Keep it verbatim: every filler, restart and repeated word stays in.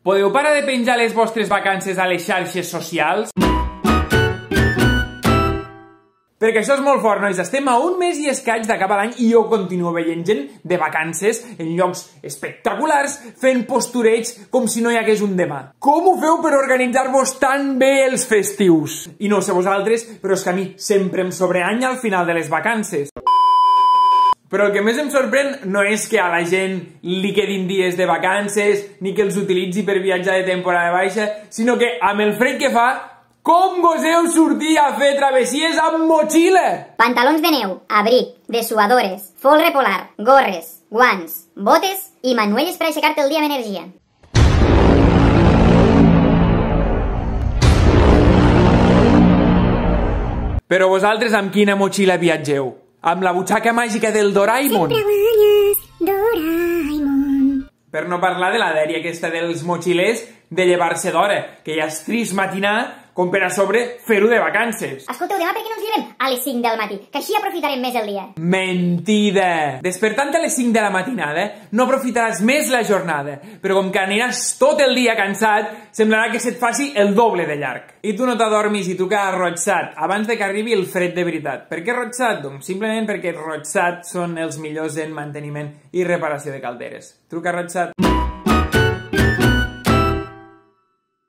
Podeu parar de penjar les vostres vacances a les xarxes socials? Perquè això és molt fort, nois. Estem a un mes i escaig d'acabar l'any i jo continuo veient gent de vacances en llocs espectaculars fent postureig com si no hi hagués un demà. Com ho feu per organitzar-vos tan bé els festius? I no sé vosaltres, però és que a mi sempre em sobreanya al final de les vacances. Però el que més em sorprèn no és que a la gent li quedin dies de vacances ni que els utilitzi per viatjar de temporada baixa, sinó que amb el fred que fa, com goseu sortir a fer travessies amb motxilla? Pantalons de neu, abric, dessuadores, folre polar, gorres, guants, botes i manuelles per aixecar-te el dia amb energia. Però vosaltres amb quina motxilla viatgeu? Amb la butxaca màgica del Doraemon? Sempre guanyes, Doraemon. Per no parlar de la dèria aquesta dels motxilers de llevar-se d'hora, que ja és trist matinar com per a sobre fer-ho de vacances. Escolteu, demà per què no ens llevem a les cinc del matí? Que així aprofitarem més el dia. Mentida! Despertant a les cinc de la matinada no aprofitaràs més la jornada, però com que aniràs tot el dia cansat, semblarà que se't faci el doble de llarg. I tu no t'adormis i tu que has rotxat abans de que arribi el fred de veritat. Per què rotxat? Doncs simplement perquè rotxat són els millors en manteniment i reparació de calderes. Truca rotxat.